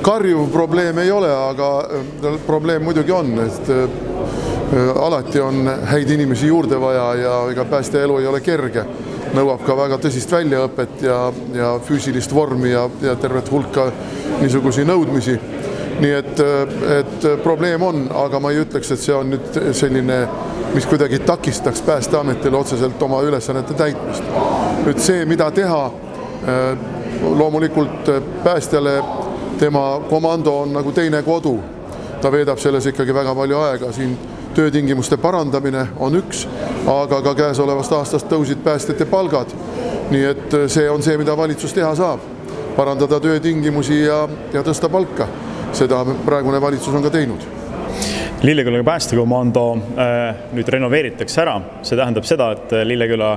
karjuv probleem ei ole, aga probleem muidugi on, et alati on häid inimesi juurde vaja ja ega päästeelu ei ole kerge. Nõuab ka väga tõsist väljaõpet ja füüsilist vormi ja tervet hulka niisugusi nõudmisi. Nii et probleem on, aga ma ei ütleks, et see on nüüd selline, mis kuidagi takistaks Päästeametile otseselt oma ülesannete täitmist. Nüüd see, mida teha, loomulikult päästjale tema komando on nagu teine kodu. Ta veedab selles ikkagi väga palju aega. Siin töötingimuste parandamine on üks, aga ka käesolevast aastast tõusid päästjate palgad. Nii et see on see, mida valitsus teha saab. Parandada töötingimusi ja tõsta palka. Seda praegune valitsus on ka teinud. Lilleküla päästekomando nüüd renoveeritakse ära. See tähendab seda, et Lilleküla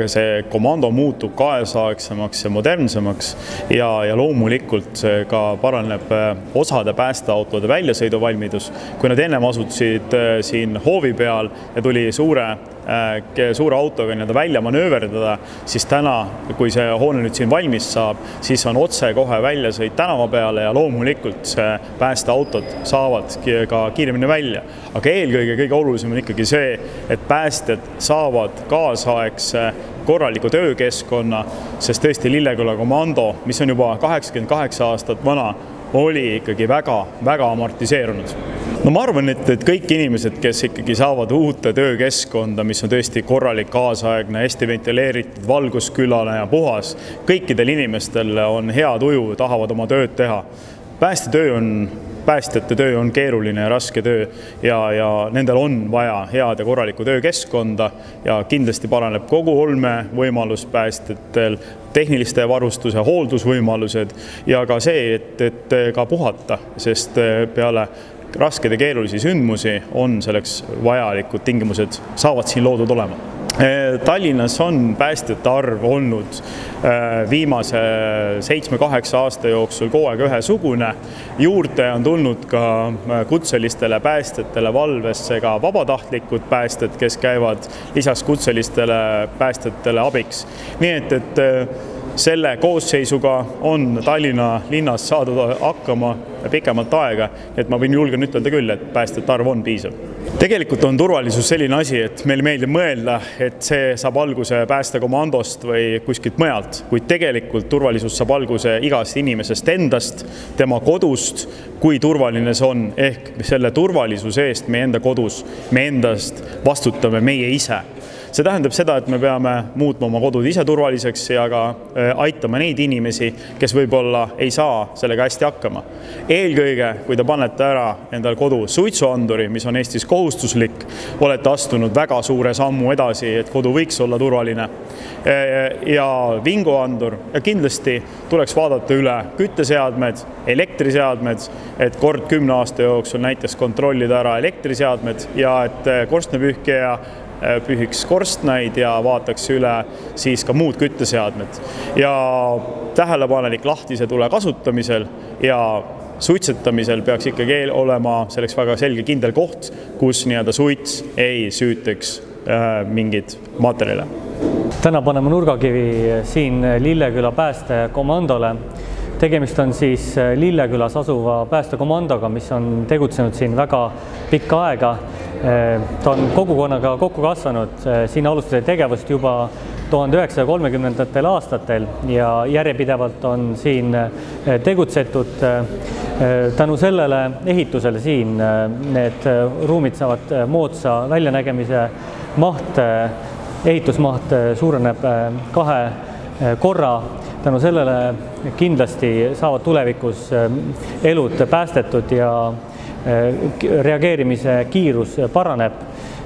see komando muutub kaasaegsemaks ja modernsemaks ja loomulikult ka paraneb osade päästeautode väljasõiduvalmidus. Kui nad ennem asutasid siin hoovi peal ja tuli suure autoga välja manööverdada, siis täna, kui see hoone nüüd siin valmis saab, siis on otse kohe väljasõit tänava peale ja loomulikult päästeautod saavad ka kiiremini välja. Aga eelkõige kõige olulisem on ikkagi see, et päästjad saavad kaasaegse korraliku töökeskkonna, sest tõesti Lilleküla komando, mis on juba 88 aastat vana, oli ikkagi väga amortiseerunud. No ma arvan, et kõik inimesed, kes ikkagi saavad uute töökeskkonda, mis on tõesti korralik, kaasaegne, hästi ventileeritud, valguskülane ja puhas, kõikidel inimestel on hea tuju, tahavad oma tööd teha. Päästjate töö on keeruline ja raske töö ja nendel on vaja head ja korralikku töökeskkonda ja kindlasti paraneb kogu olme võimalus päästjatel, tehniliste varustuse, hooldusvõimalused ja ka see, et ka puhata, sest peale rasked ja keerulisi sündmusi on selleks vajalikud tingimused saavad siin loodud olema. Tallinnas on päästjate arv olnud viimase 7-8 aasta jooksul kogu aeg ühesugune. Juurde on tulnud ka kutselistele päästjatele valvesse ka vabatahtlikud päästjad, kes käivad lisaks kutselistele päästjatele abiks. Nii et selle koosseisuga on Tallinna linnas saadud hakkama pikemalt aega, et ma võin julgen ütelda küll, et päästjate arv on piisav. Tegelikult on turvalisus selline asi, et meil meeldib mõelda, et see saab alguse päästekomandost või kuskilt mujalt, kuid tegelikult turvalisus saab alguse igast inimesest endast, tema kodust, kui turvaline see on, ehk selle turvalisuse eest meie enda kodus, me endast vastutame meie ise. See tähendab seda, et me peame muutma oma kodud ise turvaliseks ja ka aitama neid inimesi, kes võib-olla ei saa sellega hästi hakkama. Eelkõige, kui te panete ära endal kodu suitsuanduri, mis on Eestis kohustuslik, olete astunud väga suure sammu edasi, et kodu võiks olla turvaline ja vinguandur ja kindlasti tuleks vaadata üle kütteseadmed, elektriseadmed, et kord 10 aasta jooksul näiteks kontrollida ära elektriseadmed ja et korstnapühkija pühiks korstnaid ja vaataks üle siis ka muud kütteseadmed. Ja tähelepanelik lahtise tule kasutamisel ja suitsetamisel peaks ikkagi olema selleks väga selge kindel koht, kus suits ei süüteks mingid materjale. Täna paneme nurgakivi siin Lilleküla päästekomandole. Tegemist on siis Lillekülas asuva päästekomandoga, mis on tegutsenud siin väga pikka aega. Ta on kogukonnaga kokku kasvanud, siin alustasid tegevust juba 1930. aastatel ja järjepidevalt on siin tegutsetud. Tänu sellele ehitusele siin need ruumid saavad moodsa väljanägemise maht, ehitusmaht suureneb 2 korra. Tänu sellele kindlasti saavad tulevikus elud päästetud ja reageerimise kiirus paraneb.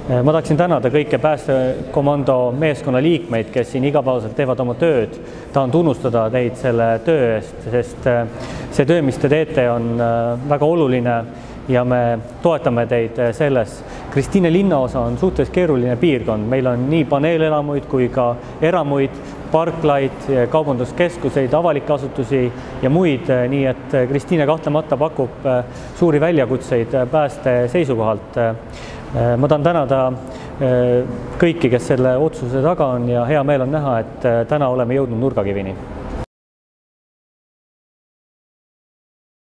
Ma tahaksin tänada kõike päästekomando meeskonna liikmeid, kes siin igapäevaselt teevad oma tööd. Tahan tunnustada teid selle töö eest, sest see töö, mis te teete, on väga oluline ja me toetame teid selles. Kristiine linnaosa on suhteliselt keeruline piirkond. Meil on nii paneelelamuid kui ka eramuid, parklaid, kaubanduskeskuseid, avalikke asutusi ja muid, nii et Kristiine kahtlemata pakub suuri väljakutseid pääste seisukohalt. Ma tahan tänada kõiki, kes selle otsuse taga on ja hea meel on näha, et täna oleme jõudnud nurgakivini.